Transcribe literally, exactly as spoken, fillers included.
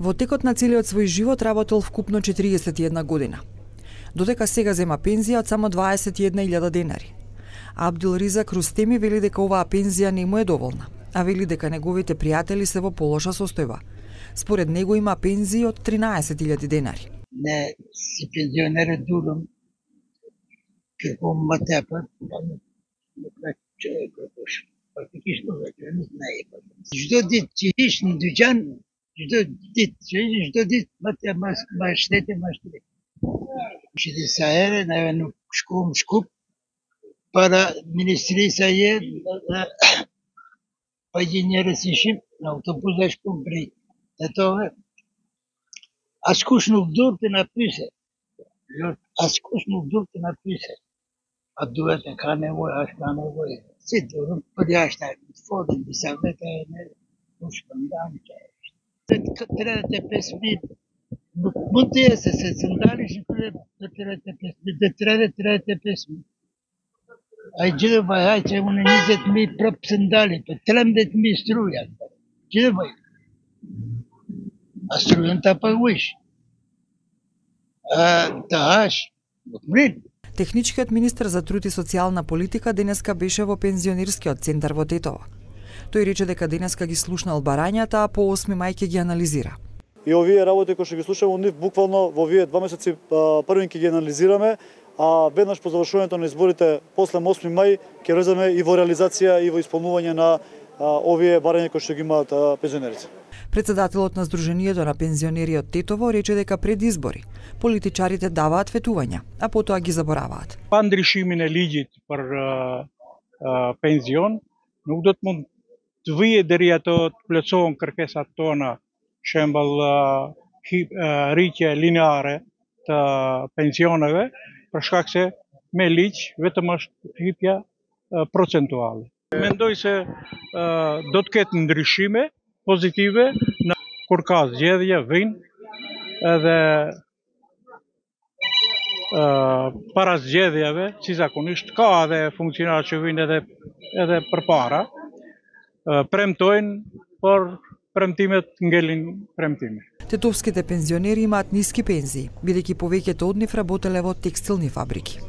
Во текот на целиот свој живот работел вкупно четириесет и една година. Додека сега зема пензија од само дваесет и една илјада денари. Абдул Ризак Рустеми вели дека оваа пензија не му е доволна, а вели дека неговите пријатели се во полоша состојба. Според него има пензии од тринаесет илјади денари. Не си пензионер дуром, како матепа, не човек кој практично веќе не знае. Што дит чиш на дуќан, што дит чиш, што дит матеа маштете маштете. Шиде саере, највено шкум шкуп, para ministrița e pe inginerii și în autobuz aș cumpri. Eto ascuș nu dur te napise. Ascuș nu dur te napise. A duete ca nevoie, aș ca nevoie. Sigur, pe asta, fără de savete, nu știu, da, trebuie să te pesmi. Nu te să se sândali și trebuie să te pesmi. De trebuie trebuie să te pesmi. Ai ce vai, ai ce unde nizet mi prop sândali, pe tremdet mi struja. Ce vai? A struja ta pa uish. А таш, блин. Техничкиот министер за труд и социјална политика денеска беше во пензионерскиот центар во Тетово. Тој рече дека денеска ги слушнал барањата, а по осми мај ќе ги анализира. И овие работи кои што ги слушаме, нив буквално во овие два месеци првин ќе ги анализираме, а веднаш по завршувањето на изборите после осми мај ќе влеземе и во реализација и во исполнување на овие барања кои што ги имаат пензионерите. Председателот на Сдруженијето на пензионери од Тетово рече дека пред избори политичарите даваат ветувања, а потоа ги забораваат. Pandrishimine ligjit për uh, uh, penzion, nuk do të mund të vijë deri ato të plotësohen kërkesat tona, shembull uh, uh, rritje lineare të pensioneve, për shkak se me ligj vetëm është hipja uh, procentuale. Mendoj se uh, do të ketë ndryshime pozitive në kur ka zgjedhje vijnë edhe uh, para zgjedhjeve, si zakonisht ka edhe funksionarë që vijnë edhe edhe përpara, uh, premtojnë, por премтимет нgelin премтиме. Тетовските пензионери имаат ниски пензии, бидејќи повеќето од нив работеле во текстилни фабрики.